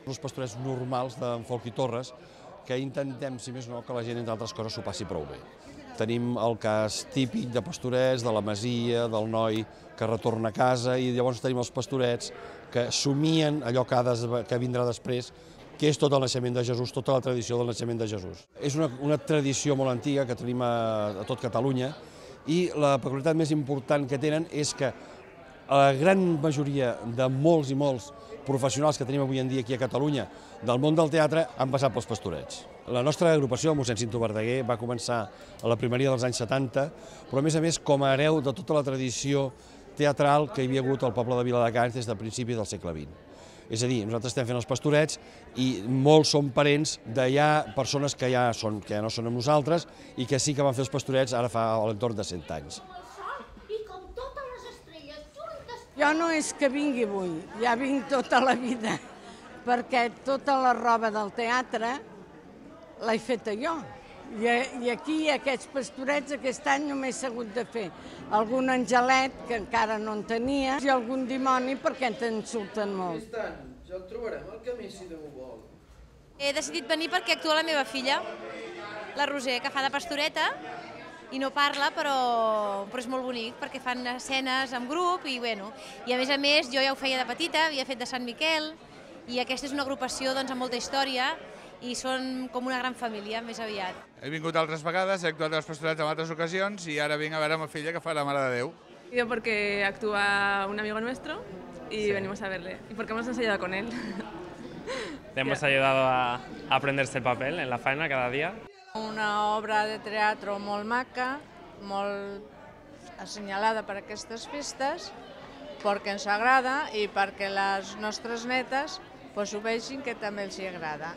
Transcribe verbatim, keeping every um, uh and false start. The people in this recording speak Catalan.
Els pastorets normals d'en Folch i Torres, que intentem, si més no, que la gent, entre altres coses, s'ho passi prou bé. Tenim el cas típic de pastorets, de la masia, del noi que retorna a casa, i llavors tenim els pastorets que somien allò que, ha de, que vindrà després, que és tot el naixement de Jesús, tota la tradició del naixement de Jesús. És una, una tradició molt antiga que tenim a, a tot Catalunya, i la peculiaritat més important que tenen és que la gran majoria de molts i molts professionals que tenim avui en dia aquí a Catalunya del món del teatre han passat pels pastorets. La nostra agrupació, el mossèn Cinto Verdaguer, va començar a la primeria dels anys setanta, però a més a més com a hereu de tota la tradició teatral que hi havia hagut al poble de Viladecans des del principi del segle vint. És a dir, nosaltres estem fent els pastorets i molts són parents d'allà, persones que ja, són, que ja no són amb nosaltres i que sí que van fer els pastorets ara fa a l'entorn de cent anys. Jo no és que vingui avui, ja vinc tota la vida, perquè tota la roba del teatre l'he feta jo. I aquí, aquests pastorets, aquest any només s'ha hagut de fer algun angelet, que encara no en tenia, i algun dimoni, perquè te'n surten molt. Aquest any ja el trobarem al camí, si Déu vol. He decidit venir perquè actua la meva filla, la Roser, que fa de pastoreta, i no parla, però, però és molt bonic, perquè fan escenes en grup, i, bueno, i a més a més jo ja ho feia de petita, havia fet de Sant Miquel, i aquesta és una agrupació doncs, amb molta història, i són com una gran família, més aviat. He vingut altres vegades, he actuat als pastorets en altres ocasions, i ara vinc a veure a ma filla que fa la Mare de Déu. Yo porque actúa un amigo nuestro y sí. venimos a verle, y porque hemos ensayado con él. Le hemos ayudado a aprenderse el papel en la faena cada día. Una obra de teatre molt maca, molt assenyalada per aquestes festes, perquè ens agrada i perquè les nostres netes ho vegin que també els agrada.